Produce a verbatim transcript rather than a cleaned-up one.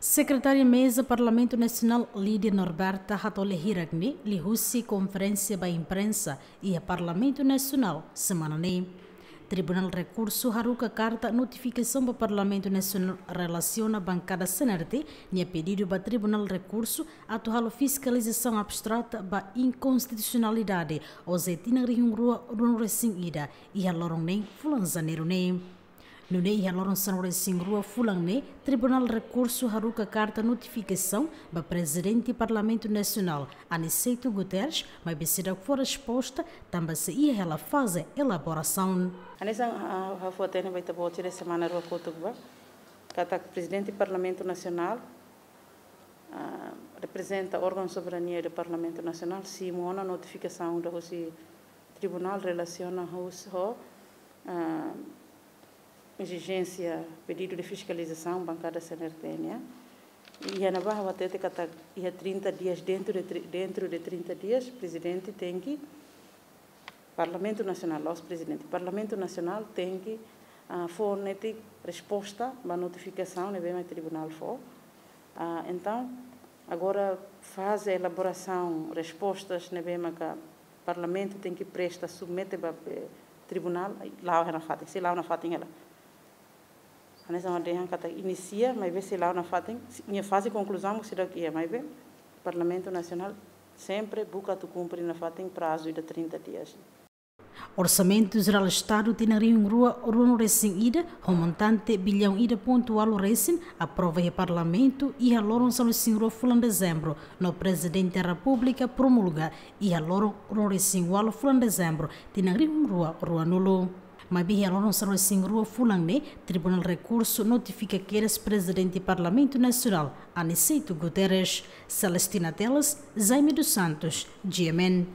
Sekretária Meza Parlamentu Nasionál Lídia Norberta hato'o hirak ne'e liuhusi konferénsia ba imprensa iha Parlamentu Nasionál semana ne'e. Tribunál Rekursu haruka karta notifikasaun ba Parlamentu Nasionál relasiona bankada C N R T nia pedidu ba Tribunál Rekursu atu halo fiskalizasaun abstrata ba inkonstitusionalidade hosi tinan rihun rua ruanulu resin ida iha loron neen fulan Janeiru ne'e. Nune'e iha loron sanulu resin rua fulan ne'e, Tribunál Rekursu haruka karta notifikasaun ba Prezidente Parlamentu Nasionál, Aniceto Guterres, maibé seidauk fó resposta, tanba sei iha hela faze elaborasaun. Hanesan ha'u, ha'u fó-hatene ba ita-boot sira semana rua kotuk ba, katak Prezidente Parlamentu Nasionál, ah, reprezenta órgaun soberania do Parlamentu Nasionál, simu ona notifikasaun ida hosi tribunál relasiona ho, ho, ah, ezijénsia, pedidu de fiskalizasaun bankada C N R T nian. Iha ne'ebá ha'u hatete katak iha trinta dias, dentro de tri-, dentro de trinta dias, Prezidente tenke, Parlamentu Nasionál, la'ós Prezidente, Parlamentu Nasionál tenke, ah, fó netik resposta ba notifikasaun ne'ebé mak tribunál fó. Ah, entaun, agora faze elaborasaun, respostas ne'ebé maka Parlamentu tenke presta, submete ba, eh, tribunál, la'o iha nafatin, sei la'o nafatin hela. Hanesan ha'u dehan katak inisia, maibé sei la'o nafatin, nia faze konkluzaun seidauk iha, maibé Parlamentu Nasionál sempre buka atu kumpre nafatin prazu ida trinta dias. Orsamentu Jerál Estadu tinan rihun rua ruanulu resin ida, ho montante billaun ida pontu ualu resin, aprova iha Parlamentu iha loron sanulu resin rua fulan Dezembru, no Prezidente Repúblika promulga iha loron ruanulu resin ualu fulan Dezembru, tinan rihun rua ruanulu. Maibé iha loron sanulu resin rua fulan ne'e, Tribunál Rekursu notifika kedas Prezidente Parlamentu Nasionál, Aniceto Guterres. Celestina Teles, Jaime dos Santos, G M N.